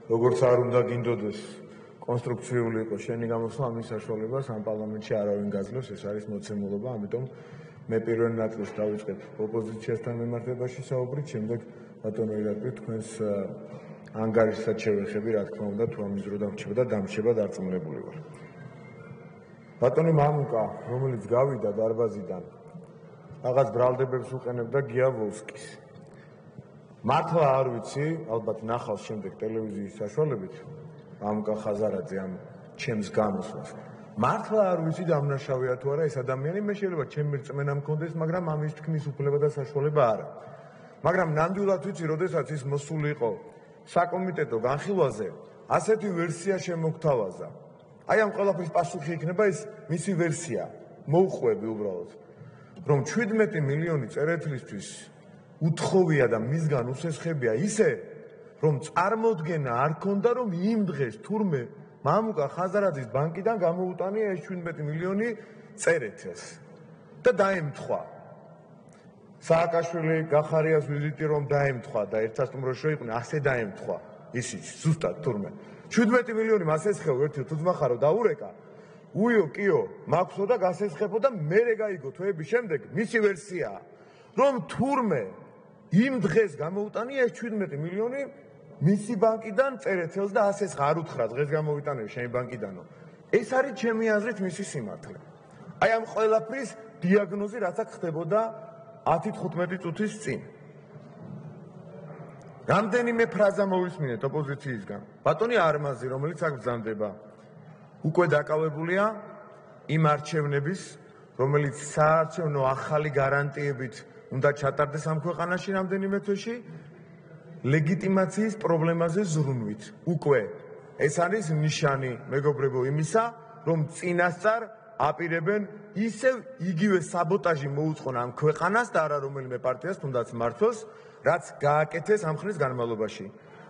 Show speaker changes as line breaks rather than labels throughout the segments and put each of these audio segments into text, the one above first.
როგორც არ უნდა გინდოდეს კონსტრუქციული იყოს შენი გამოსვლა ამის საშუალებას ამ პარლამენტში არავინ გაძლევს, ეს არის მოცემულობა, ამიტომ მე პირველ ნაწილს დავიწყებ ოპოზიციასთან მიმართებაში საუბრით, შემდეგ ბატონო ირაკლი თქვენს ანგარიშსაც შევეხები, რა თქმა უნდა, თუ ამის დრო დამრჩება და დამრჩება დარწმუნებული ვარ. ბატონი მამუკა, რომელიც გავიდა დარბაზიდან, რაღაც ბრალდებებს უყენებდა გიავოლსკის. მართლა არ ვიცი, ალბათ ნახავს შემდეგ ტელევიზიის საშუალებით მამუკა ხაზარაძე ამ ჩემს გამოსვლას. მართლა არ ვიცი დამნაშავეა თუ არა ეს ადამიანი, მე შეიძლება ჩემი რწმენა მქონდეს, მაგრამ ამის თქმის უფლება და საშუალება არა. მაგრამ ნამდვილად ვიცი, როდესაც ის მოსული იყო საკომიტეტო განხილვაზე, ასეთი ვერსია შემოგთავაზა. აი ამ ყველაფრის პასუხი იქნება ეს მისი ვერსია. მოუხვევი უბრალოდ, რომ 17 მილიონი წერეთლისთვის უთხოვია და მისგან უსესხებია ისე, რომ წარმოდგენა არ ქონდა, რომ იმ დღეს თურმე მამუკა ხაზარაძის ბანკიდან გამოუტანია ეს 17 მილიონი წერეთელს და დაემთხვა. სააკაშვილი გახარიას ვიზიტი რომ დაემთხვა და ერთსასტუმროში რო იყვნენ, ასე დაემთხვა ისიც ზუსტად თურმე 17 მილიონი მასესხეო ერთი თუძმახარო დაურეკა, უიო კიო მაქვსო და გასესხებო და მერე გაიგო თვეების შემდეგ მისი ვერსიაა, რომ თურმე იმ დღეს გამოუტანია ეს 17 მილიონი მისი ბანკიდან წერეთელს და ასესხა არ უთხრა დღეს გამოვიტანები შენი ბანკიდანო. ეს არის ჩემი აზრით მისი სიმართლე. აი ამ ყველაფრის დიაგნოზი რაც აქ ხდებოდა 10-15 წუთის წინ. რამდენიმე ფრაზა მოვისმინეთ ოპოზიციისგან. ბატონი არმაზი, რომელიც აქ ბრძანდება, უკვე დაკავებულია იმ არჩევნების, რომელიც საარჩევნო ახალი გარანტიებით უნდა ჩატარდეს ამ ქვეყანაში რამდენიმე თვეში, ლეგიტიმაციის პრობლემაზე ზრუნვით. უკვე ეს არის ნიშანი, მეგობრებო, იმისა, რომ წინასწარ აპირებენ ისევ იგივე საბოტაჟი მოუწყონ ამ ქვეყანას და არა რომელიმე პარტიას, თუნდაც მმართველს, რაც გააკეთეს ამ ხნის განმავლობაში.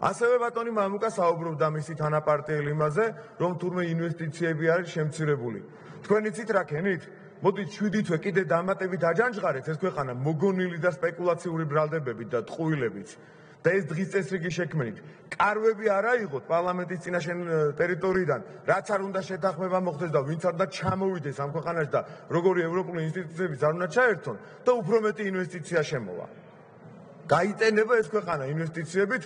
ასევე ბატონი მამუკა საუბრობდა მისი თანაპარტიელ იმაზე, რომ თურმე ინვესტიციები არის შემცირებული. თქვენ იცით რა ქენით? მოდით 7 თვე კიდე დამატებით აჯანჯღარეთ ეს ქვეყანა მოგონილი და სპეკულაციური ბრალდებებით და ტყუილებით. და ეს დღის წესრიგი შექმნით. კარვები არ აიღოთ პარლამენტის წინაშე ტერიტორიიდან, რაც არ უნდა შეთანხმება მოხდეს და ვინც არ უნდა ჩამოვიდეს ამ ქვეყანაში და როგორი ევროპული ინსტიტუციებიც არ უნდა ჩაერთონ და უფრო მეტი ინვესტიცია შემოვა. გაიტენება ეს ქვეყანა ინვესტიციებით,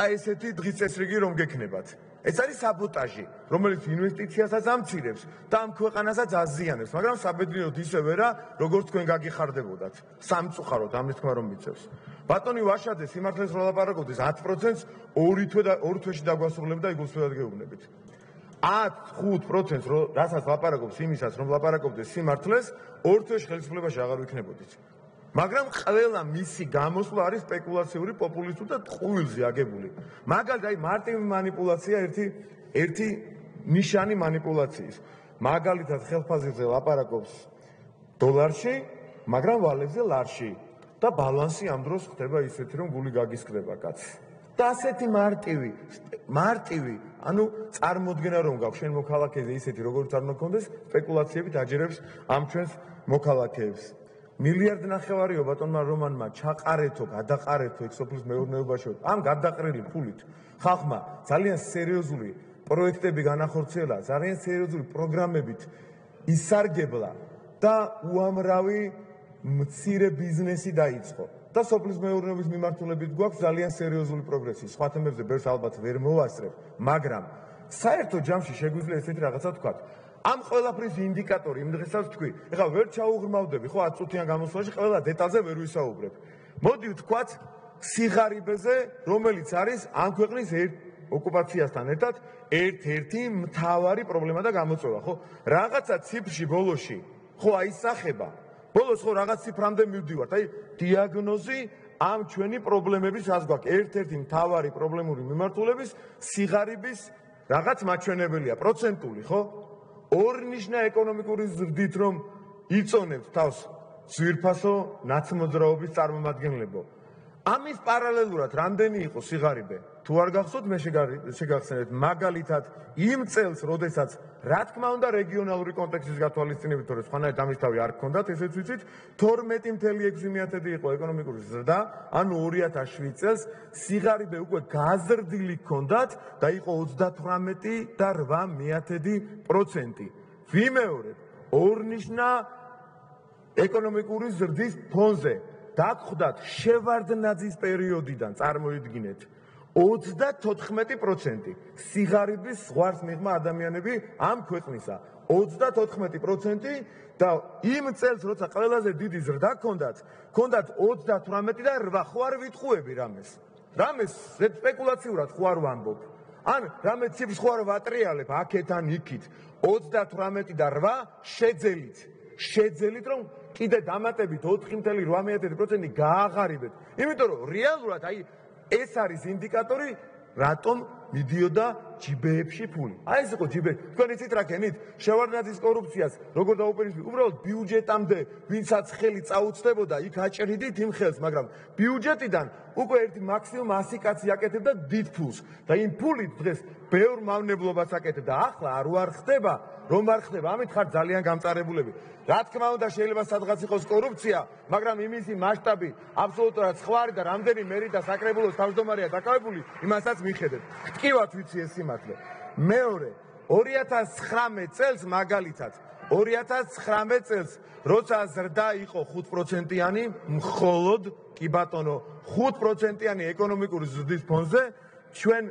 აი ესეთი დღის წესრიგი რომ გექნებათ. ეს არის საბოტაჟი, რომელიც ინვესტიციასაც ამცირებს და ამ ქვეყანასაც აზიანებს, მაგრამ საბედნიეროდ ისევე რა, როგორც თქვენ გაგიხარდებოდათ. სამწუხაროდ ამის თქმა რომ მიწევს. ბატონი ვაშაძე სიმართლეს რო ლაპარაკობდეს 10%-ს 2 თვეში დაგვასრულებდა იგულისხმებად გეუბნებით. 10-5%-ს რასაც ლაპარაკობს იმისას რომ ლაპარაკობდეს სიმართლეს 2 თვეში ხელისუფლებაში აღარ ვიქნებოდით. მაგრამ ყველა მისი გამოსვლა არის სპეკულაციური, პოპულისტური და ტყუილზე აგებული. მაგალითად, აი მარტივი манипуляცია ერთი ნიშანი манипуляციის. მაგალითად, ხელფასზე ლაპარაკობს დოლარში, მაგრამ ვალებზე ლარში და ბალანსი ამ დროს ხდება ისეთი, რომ გული გაგისკდება კაც. და ასეთი მარტივი, ანუ წარმოდგენა რომ გაქვს შენ მოქალაქეზე ისეთი, როგორც არ უნდა გქონდეს, სპეკულაციებით აჯერებს ამ ჩვენს მოქალაქეებს. მილიარდ ნახევარიო ბატონმა რომანმა ჩაყარეთო, გადაყარეთო ეგ სოფლის მეურნეობაში. ამ გადაყრილი ფულით ხალხმა ძალიან სერიოზული პროექტები განახორციელა, ძალიან სერიოზული პროგრამებით ისარგებლა და უამრავი მცირე ბიზნესი დაიწყო. და სოფლის მეურნეობის მიმართულებით გვაქვს ძალიან სერიოზული პროგრესი. სხვა თემებზე ბევრს ალბათ ვერ მოვასწრებ, მაგრამ საერთო ჯამში შეგვიძლია ესეთი რაღაცა ვთქვათ. ამ ყველაფრის ინდიკატორი იმ დღესაც თქვი, ეხლა ვერ ჩაუღრმავდები, ხო 10 წუთიან გამოსვლაში ყველა დეტალზე ვერ ვისაუბრებ. მოდი ვთქვათ სიღარიბეზე, რომელიც არის ამ ქვეყნის ოკუპაციასთან ერთად ერთ-ერთი მთავარი პრობლემა და გამოწვევა, ხო? რაღაცა ციფრში ბოლოში, ხო აისახება. ბოლოს ხო რაღაც ციფრამდე მივდივართ. აი დიაგნოზი ამ ჩვენი პრობლემების რას გვაქვს? ერთ-ერთი მთავარი პრობლემური მიმართულების სიღარიბის რაღაც მაჩვენებელია, პროცენტული, ხო? ორნიშნა ეკონომიკური ზრდით რომ იწონებთ თავს ძვირფასო ნაცმოძრაობის წარმომადგენლებო. ამის პარალელურად რამდენი იყო სიღარიბე? თუ არ გახსოვთ, მე შეგახსენებთ მაგალითად იმ წელს, როდესაც რა თქმა უნდა რეგიონალური კონტექსტის გათვალისწინებით, თორე სხვანაირად ამის თავი არ გქონდათ, ესეც ვიცით, 12.6% იყო ეკონომიკური ზრდა, ანუ 2007 წელს სიღარიბე უკვე გაზრდილი გქონდათ და იყო 38.8%. ვიმეორებ, ორნიშნა ეკონომიკური ზრდის ფონზე დაგხვდათ შევარდნაძის პერიოდიდან წარმოიდგინეთ 34% სიღარიბის ზღვარს მიღმა ადამიანები ამ ქვეყნისა 34% და იმ წელს როცა ყველაზე დიდი ზრდა გქონდათ 38 და 8 ხო არ ვიტყუები რამეს სპეკულაციურად ხო არ ვამბობ ან რამე ციფრს ხო არ ვატრიალებ აქეთ ან იქით 38 და 8 შეძელით რომ კიდე დამატებით 4.8% გააღარიბეთ იმიტომ რომ რეალურად აი ეს არის ინდიკატორი რატომ მიდიოდა ჯიბეებში ფული. აი ეს იყო ჯიბე. თქვენ იცით რა გენით? შევარდნაძის კორუფციას როგორ დაუპირისპირდით? უბრალოდ ბიუჯეტამდე ვინცაც ხელი წაუწდებოდა, იქ აჭრიდით იმ ხელს, მაგრამ ბიუჯეტიდან უკვე ერთი მაქსიმუმ 100 კაცი აკეთებდა დიდ ფულს და იმ ფულით დღეს ბევრ მავნებლობას აკეთებდა. ახლა არ ვარ ხდება, რომ არ ხდება, ამით ხარ ძალიან გამწარებულები. რა თქმა უნდა შეიძლება სადღაც იყოს კორუფცია, მაგრამ იმისი მასშტაბი აბსოლუტურად სხვა არის და რამდენი მერი და საკრებულოს თავმჯდომარეა დაკავებული, იმასაც მიხედეთ. ტკივათ ვიცი ეს სიმართლე. მეორე 2019 წელს მაგალითად 2019 წელს როცა ზრდა იყო 5%-იანი, მხოლოდ კი ბატონო 5%-იანი ეკონომიკური ზრდის ფონზე ჩვენ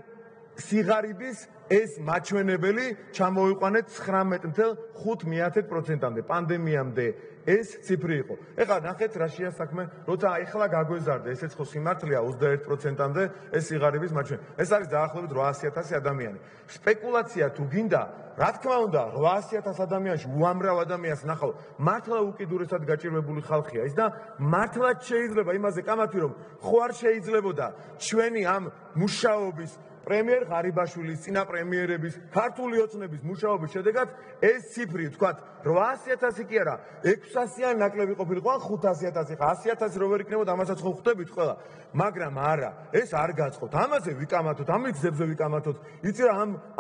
სიღარიბის ეს მაჩვენებელი ჩამოვიყვანეთ 19.5%-მდე პანდემიამდე ეს ციფრი იყო. ეხლა ნახეთ რა შეა საქმე, როცა ეხლა გაგვეზარდა, ესეც ხო სიმართლეა 21%-მდე ეს სიღარიბის მაჩვენებელი. ეს არის დაახლოებით 800,000 ადამიანი. სპეკულაცია თუ გინდა, რა თქმა უნდა 800,000 ადამიანში უამრავ ადამიანს ნახავ, მართლა უკიდურესად გაჭირვებული ხალხია ის და მართლაც შეიძლება იმაზე კამათი რომ ხო არ შეიძლებოდა ჩვენი ამ მუშაობის პრემიერ ღარიბაშვილის, წინა პრემიერების, ქართული ოცნების მუშაობის შედეგად ეს ციფრი, თქვათ, 800,000 კი არა, 600-იან ნაკლები ყოფილიყო, ან 500,000, 100,000 რო ვერ იქნებოდა, ამასაც ხო ხვდებით ყველა. მაგრამ არა, ეს არ გაწყოთ. ამაზე ვიკამათოთ, ამ მიზებზე ვიკამათოთ. იცი რა,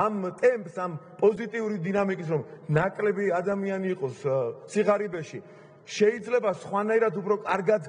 ამ ტემპს, ამ პოზიტიური დინამიკის რომ ნაკლები ადამიანი იყოს სიღარიბეში, შეიძლება სხვანაირად უფრო კარგად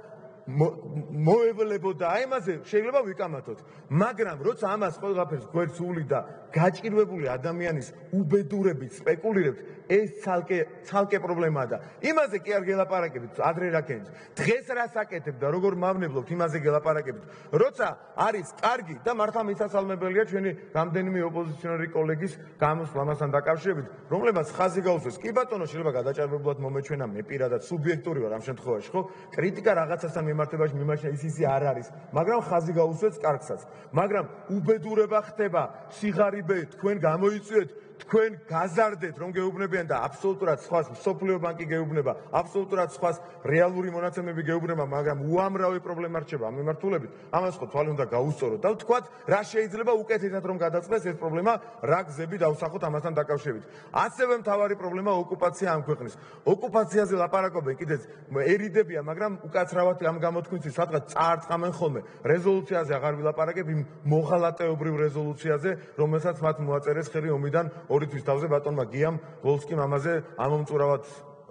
მოევლებოდა, აიმაზე შეიძლება ვიკამათოთ, მაგრამ როცა ამას ყველაფერს გვერდს ულიდა გაჭირვებული ადამიანის უბედურებით სპეკულირებთ, ეს ცალკე პრობლემაა და იმაზე კი არ გელაპარაკებით, ადრე რა გენს. დღეს რას აკეთებ და როგორ მავნებლობთ, იმაზე გელაპარაკებით. როცა არის კარგი და მართლა მისასალმებელია ჩვენი რამდენიმე ოპოზიციონერი კოლეგის გამოსვლა ამასთან დაკავშირებით, რომლებაც ხაზი გაუსვეს. კი ბატონო, შეიძლება გადაჭარბებულად მომეჩვენა, მე პირადად სუბიექტური ვარ ამ შემთხვევაში, ხო? კრიტიკა რაღაცასთან მიმართებაში მიმარჩენა ის არ არის, მაგრამ ხაზი გაუსვეს კარგსაც. მაგრამ უბედურება ხდება, სიღარიბე თქვენ გამოიწვიეთ, თქვენ გაზარდეთ რომ გეუბნებიან და აბსოლუტურად სხვას მსოფლიო ბანკი გეუბნება, აბსოლუტურად სხვას რეალური მონაცემები გეუბნება, მაგრამ უამრავი პრობლემა რჩება ამ მიმართულებით. ამას ხო თვალი უნდა გაუსწოროთ და ვთქვათ, რა შეიძლება უკეთესად რომ გადაწყდეს ეს პრობლემა, რა გზები დავსახოთ ამასთან დაკავშირებით. ასევე მთავარი პრობლემა ოკუპაცია ამ ქვეყნის. ოკუპაციაზე ლაპარაკობენ კიდეც ერიდებია, მაგრამ უკაცრავად ამ გამოთქმის სადღაც წაარწყამენ ხოლმე. რეზოლუციაზე აღარ ვილაპარაკებ, იმ მოღალატეობრივ რეზოლუციაზე, რომელსაც მათ მოაწერეს ხელი ომიდან 2 თვის თავზე ბატონმა გიამ ვოლსკიმ ამაზე ამომწურავად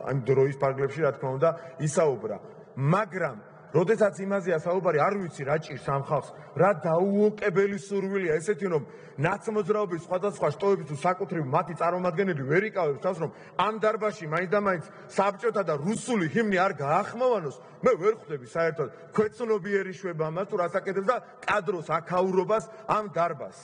ამ დროის პარგლებში რა თქმა უნდა ისაუბრა. მაგრამ როდესაც იმაზეა საუბარი, არ ვიცი რა ჭირს ამ ხალხს, რა დაუოკებელი სურვილია ესეთი რომ ნაცმოძრაობის სხვადასხვა შტოების თუ საკუთრივ მათი წარმომადგენელი ვერ იკავებს თავს რომ ამ დარბაზში მაინც და მაინც საბჭოთა და რუსული ჰიმნი არ გაახმოვანოს, მე ვერ ხვდები საერთოდ ქვეცნობიერი შვება ამას თუ რას აკეთებს და კადროს აქაურობას ამ დარბაზს.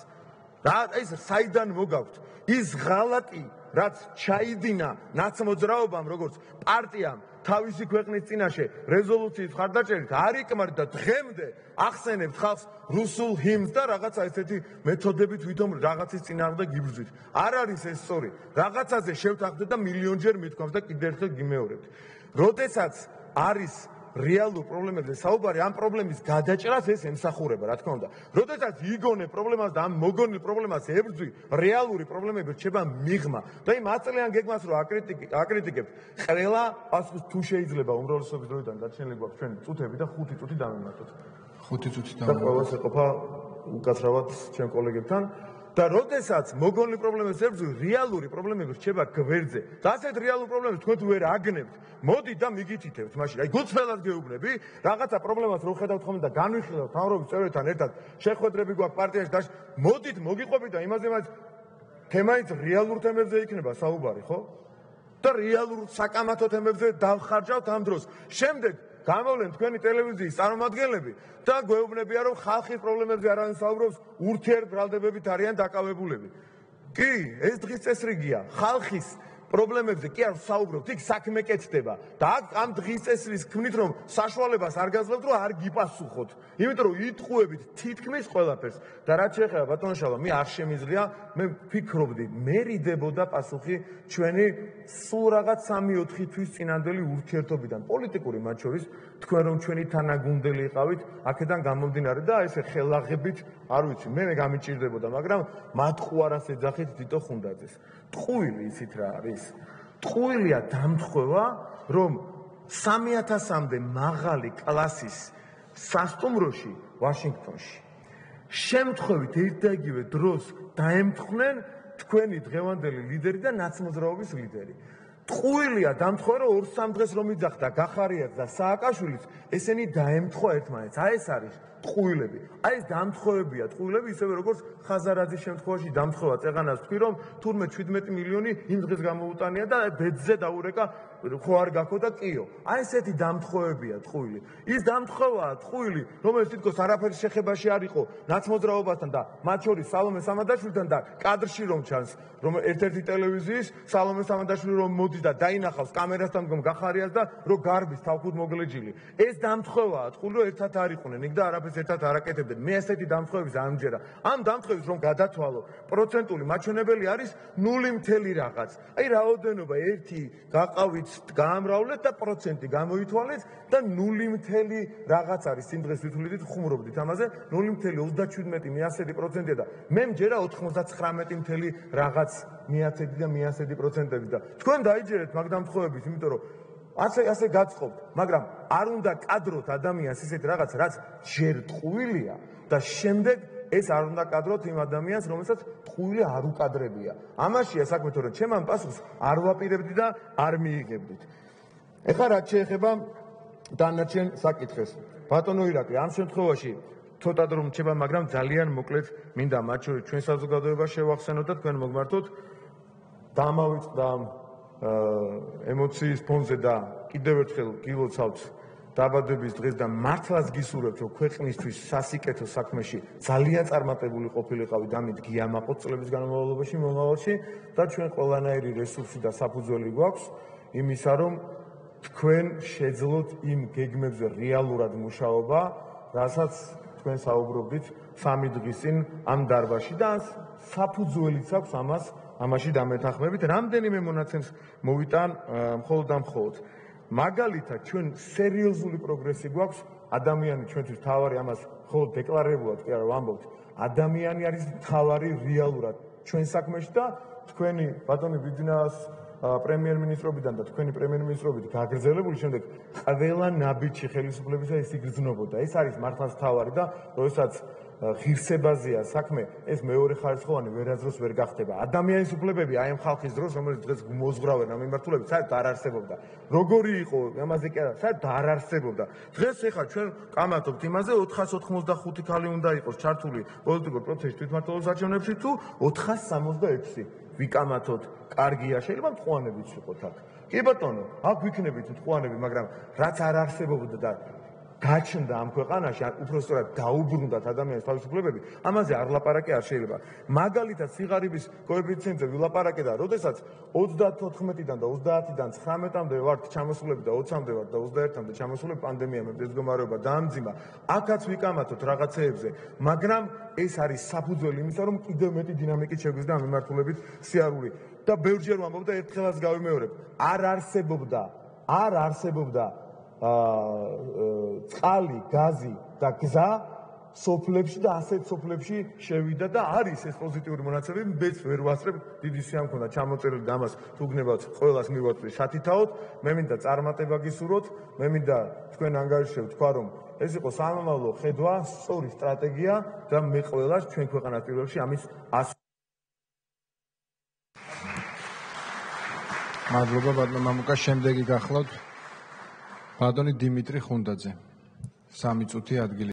რა ეს საიდან მოგაქვთ ის ღალატი რაც ჩაიდინა ნაცმოძრაობამ როგორც პარტიამ თავისი ქვეყნის წინაშე რეზოლუციის მხარდაჭერით არ იკმარდა და დღემდე ახსენებთ ხალხს რუსულ ჰიმნს და რაღაცა ესეთი მეთოდებით ვითომ რაღაცის წინააღმდეგ იბრძვით. არ არის ეს სწორი. რაღაცაზე შევთანხმდეთ და მილიონჯერ მithქვამთ და კიდევ ერთხელ გიმეორებთ. როდესაც არის რეალურ პრობლემებზე საუბარი, ამ პრობლემის გადაჭრას ეს ემსახურება, რა თქმა უნდა. როდესაც იგონე პრობლემას და ამ მოგონილ პრობლემას ებრძვი, რეალური პრობლემები რჩება მიღმა. და იმ 10 წლიან გეგმას რო აკრიტიკებთ, ყველა პასუხს თუ შეიძლება უმრავლესობის დროიდან გაჩენილი გვაქვს ჩვენ წუთები და 5 წუთი დავიმართოთ.
5 წუთი
და ყველას ეყოფა უკაცრავად ჩემ კოლეგებთან და როდესაც მოგონილი პრობლემებს ებრძვი, რეალური პრობლემები რჩება გვერდზე. და ასეთ რეალურ პრობლემებს თქვენ თუ ვერ აგნებთ, მოდით და მიგითითებთ მაშინ. აი გულწრფელად გეუბნები, რაღაცა პრობლემას რო ხედავთ ხოლმე და განვიხილავთ თავრობის წევრებთან ერთად, შეხვედრები გვაქვს პარტიაში და მოდით მოგიყვებით და იმაზე მაინც თემაიც რეალურ თემებზე იქნება საუბარი, ხო? და რეალურ საკამათო თემებზე დავხარჯავთ ამ დროს. შემდეგ გამოვლენ თქვენი ტელევიზიის წარმომადგენლები და გვეუბნებიან, რომ ხალხის პრობლემებზე არავინ საუბრობს, ურთიერთბრალდებებით არიან დაკავებულები. კი, ეს დღის წესრიგია. ხალხის პრობლემებზე კი არ საუბრობთ, იქ საქმე კეთდება და ამ დღის წესრიგის ქმნით, რომ საშუალებას არ გაძლევთ, რომ არ გიპასუხოთ. იმიტომ რომ იტყუებით თითქმის ყველაფერს და რაც შეეხება ბატონ შალვა, მე არ შემიძლია, მე ვფიქრობდი, მე რიდებოდა პასუხი ჩვენი სულ რაღაც 3-4 თვის წინანდელი ურთიერთობიდან, პოლიტიკური მათ შორის, თქვენ რომ ჩვენი თანაგუნდელი იყავით, აქედან გამომდინარე და ესე ხელაღებით, არ ვიცი, მე გამიჭირდებოდა, მაგრამ მათყუარას ეძახით თითო ხუნდაძეს. ტყუილი ისიც რა არის? ტყუილია დამთხოვა, რომ 3000-მდე მაღალი კლასის სასტუმროში ვაშინგტონში შემთხვევით ერთ და იგივე დროს დაემთხნენ თქვენი დღევანდელი ლიდერი და ნაცმოძრაობის ლიდერი. ტყუილია დამთხოვა, რომ 2-3 დღეს რომ იძახდა გახარიას და სააკაშვილის, ესენი დაემთხვა ერთმანეთს. აი ეს არის ტყუილები. აი ეს დამთხოვებია, ტყუილები ისევე როგორც ხაზარაძის შემთხვევაში დამთხოვა წეღანას თქვი, რომ თურმე 17 მილიონი იმ დღეს გამოუტანია და ბედზე დაურეკა, ხო არ გაქო და კიო. აი ესეთი დამთხოვებია ტყუილი. ის დამთხოვაა ტყუილი, რომელიც თითქოს არაფერი შეხებაში არ იყო ნაცმოძრაობასთან და მათ შორის სალომე სამადაშვილთან და კადრში რომ ჩანს, რომ ერთ-ერთი ტელევიზიის სალომე სამადაშვილი რომ მოდის და დაინახავს კამერასთან მდგომ გახარიას და რომ გარბის თავქუდ მოგლეჯილი. ეს დამთხოვაა ტყუილი, რომ ერთად არ იყვნენ იქ და არაფერს ერთად არ აკეთებდნენ. მე ესეთი დამთხოვების ამჯერა. ამ დამთხოვების რომ გადათვალო, პროცენტული მაჩვენებელი არის 0 რაღაც. აი რაოდენობა 1 გაყავით, გაამრავლეთ და პროცენტი გამოითვალეთ და 0 რაღაც არის. იმ დღეს ვითვლით ხუმრობდით ამაზე 0.37% და მე მჯერა 99 რაღაც მიაცედი და მიასედი პროცენტები და თქვენ დაიჯერეთ მაგ დამთხოვების, იმიტომ რომ ასე გაწყობთ, მაგრამ არ უნდა კადროთ ადამიანს ისეთ რაღაც, რაც ჯერ ტყუილია და შემდეგ ეს არ უნდა კადროთ იმ ადამიანს, რომელსაც ტყუილი არ უკადრებია. ამაშია საქმე, თორემ ჩემ ამ პასუხს არ ვაპირებდი და არ მიიღებდით. ეხლა რაც შეეხება დანარჩენ საკითხებს. ბატონო ირაკლი, ამ შემთხვევაში ცოტა დრო რჩება, მაგრამ ძალიან მოკლედ მინდა მათ შორის ჩვენ საზოგადოებას შევახსენოთ და თქვენ მოგმართოთ. დამავიწყდა ემოციის ფონზე და კიდევ ერთხელ გილოცავთ დაბადების დღეს და მართლაც გისურვებთ, რომ ქვეყნისთვის სასიკეთო საქმეში ძალიან წარმატებული ყოფილიყავი და ამით გიამაყოთ წლების განმავლობაში მომავალში და ჩვენ ყველანაირი რესურსი და საფუძველი გვაქვს იმისა, რომ თქვენ შეძლოთ იმ გეგმებზე რეალურად მუშაობა, რასაც თქვენ საუბრობდით 3 დღის წინ ამ დარბაზში და საფუძველიც აქვს ამაში დამეთანხმებით. რამდენიმე მონაცემს მოვიტან მხოლოდ და მხოლოდ. მაგალითად, ჩვენ სერიოზული პროგრესი გვაქვს, ადამიანი ჩვენთვის თავარი, ამას მხოლოდ დეკლარირებულად კი არა ვამბობთ, ადამიანი არის თავარი რეალურად ჩვენ საქმეში და თქვენი ბატონი ბიძინას პრემიერ-მინისტრობიდან და თქვენი პრემიერ-მინისტრობით გაგრძელებული შემდეგ ყველა ნაბიჯი ხელისუფლებისა ეს იგრძნობოდა. ეს არის მართლაც თავარი და როდესაც ღირსებაზეა საქმე, ეს მეორე ხარისხოვანი ვერასდროს ვერ გახდება. ადამიანის უფლებები აი ამ ხალხის დროს, რომელიც დღეს მოზღრავენ ამ მიმართულებით, საერთოდ არ არსებობდა. როგორი იყო, ამაზე კი არა, საერთოდ არ არსებობდა. დღეს ეხლა ჩვენ კამათობთ იმაზე 485 ქალი უნდა იყოს ჩართული პოლიტიკურ პროცესში თვითმმართველობის არჩევნებში თუ 466. ვიკამათოთ, კარგია, შეიძლება მტყუანებიც ვიყოთ აქ. კი ბატონო, აქ ვიქნებით მტყუანები, მაგრამ რაც არ არსებობდა და გაჩნდა ამ ქვეყანაში, უпростоრად დაუბრუნდათ ადამიანის თავისუფლებები, ამაზე არ ლაპარაკი არ შეიძლება. მაგალითად, სიღარიბის კოეფიციენტზე ვილაპარაკე და როდესაც 34-დან და 30-დან 19-მდე ვართ ჩამოსულები და 20-მდე ვართ და 21-მდე ჩამოსულები, პანდემიამ ეს მდგომარეობა დაამძიმა. აქაც ვიკამათოთ რაღაცეებზე, მაგრამ ეს არის საფუძველი იმისა, რომ კიდევ მეტი დინამიკით შეგვიძლია ამ მიმართულებით სიარული. და ბევრჯერ ვამბობ და ერთხელაც გავიმეორებ, არ არსებობდა წყალი, გაზი და გზა სოფლებში და ასეთ სოფლებში შევიდა და არის ეს პოზიტიური მონაცემები, მეც ვერ ვასწრებ, დიდი სია მქონდა ჩამოწერილი და ამას თუ გნებავთ ყველას მივაწვი სათითაოდ, მე მინდა წარმატება გისურვოთ, მე მინდა თქვენ ანგარიშებს თქვა რომ ეს იყო სამომავლო ხედვა, სწორი სტრატეგია და მე ყველას ჩვენ ქვეყანას პირველ რიგში ამის
მადლობა ბატონო მამუკა, შემდეგი გახლავთ ბატონი დიმიტრი ხუნდაძე. 3 წუთი ადგილი